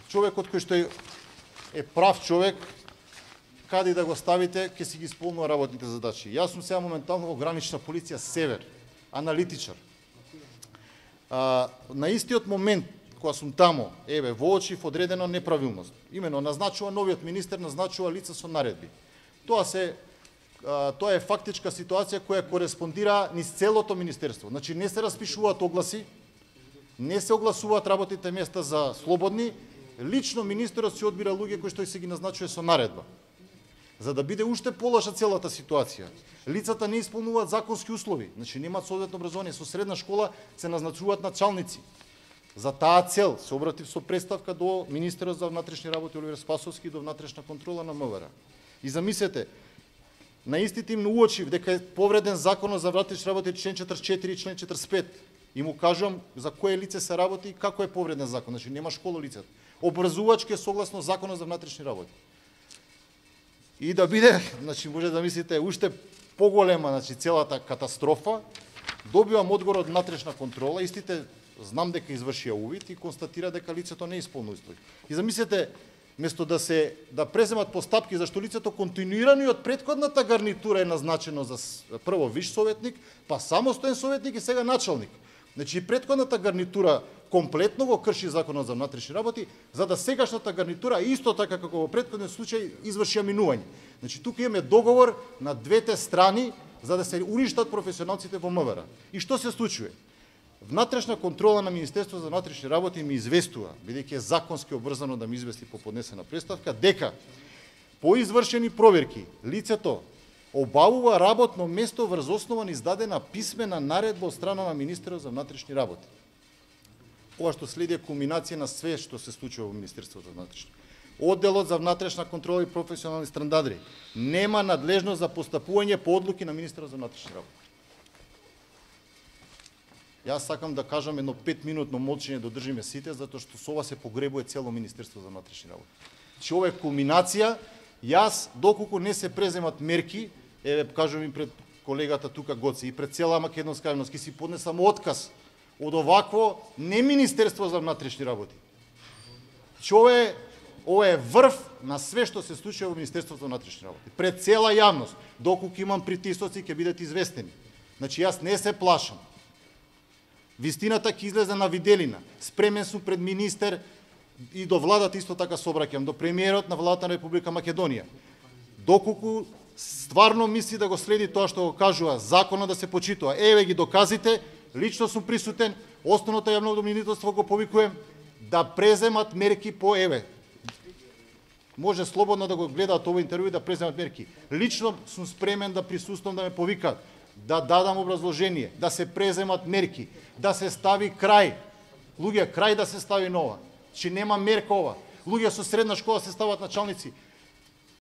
човекот кој што е прав човек, каде да го ставите, ќе си ги исполнува работните задачи. Јас сум сега моментално во гранична полиција Север, аналитичар. На истиот момент, кога сум тамо, воочив одредена неправилност. Имено, назначува новиот министер, назначува лица со наредби. Тоа е фактичка ситуација која кореспондира низ целото министерство. Значи, не се распишуваат огласи, не се огласуваат работните места за слободни, лично министерот си одбира луѓе кои што се ги назначува со наредба. За да биде уште полоша целата ситуација. Лицата не исполнуваат законски услови, значи немаат соодветно образование, со средна школа се назначуваат началници. За таа цел се обратив со представка до министерот за внатрешни работи Оливер Спасовски и до внатрешна контрола на МВР. И замислете, на истите им уочив дека е повреден законот за внатрешни работи член 44 и член 45. И му кажувам за кое лице се работи и како е повреден закон. Значи нема школа лицето. Образувачки е согласно законот за внатрешни работи. И да биде, значи може да мислите уште поголема, значи целата катастрофа, добивам одговор од внатрешна контрола, истите знам дека извршија увид и констатира дека лицето не исполнува услови. И замислете, место да преземат постапки зашто лицето континуирано и од претходната гарнитура е назначено за прво виш советник, па самостоен советник и сега началник. Значи претходната гарнитура комплетно го крши законот за внатрешни работи, за да сегашната гарнитура исто така како во претходен случај изврши минување. Значи тука имаме договор на двете страни за да се уништат професионалците во МВР. И што се случува? Внатрешна контрола на Министерството за внатрешни работи ми известува, бидејќи е законски обврзано да ми извести по поднесена представка, дека по извршени проверки лицето обавува работно место врз основа на издадена писмена наредба од страна на министерот за внатрешни работи. Ова што следи е кулминација на све што се случува во Министерството за внатрешни. Одделот за внатрешна контрола и професионални стандарди нема надлежност за постапување по одлуки на министерот за внатрешни работи. Јас сакам да кажам едно 5-минутно молчење да држиме сите, затоа што со ова се погребува цело Министерство за внатрешни работи. Че ова е кулминација, јас доколку не се преземат мерки, кажувам и пред колегата тука Гоци и пред цела македонска јавност, ќе си поднесам отказ од овакво не Министерство за внатрешни работи. Че ова е врв на све што се случува во Министерството за внатрешни работи. Пред цела јавност, доколку имам притисоци, ќе бидат известени. Значи јас не се плашам. Вистината ќе излезе на виделина. Спремен сум пред министер и до владата исто така се обраќам, до премиерот на владата на Република Македонија. Доколку стварно мисли да го следи тоа што го кажува, законот да се почитува, ги доказите, лично сум присутен, основното јавно обвинителство го повикувам да преземат мерки по може слободно да го гледаат овој интервју и да преземат мерки. Лично сум спремен да присуствам да ме повикаат, да дадам образложение, да се преземат мерки, да се стави крај. Луѓе, крај да се стави нова. Че нема мерка ова. Луѓе со средна школа се стават началници.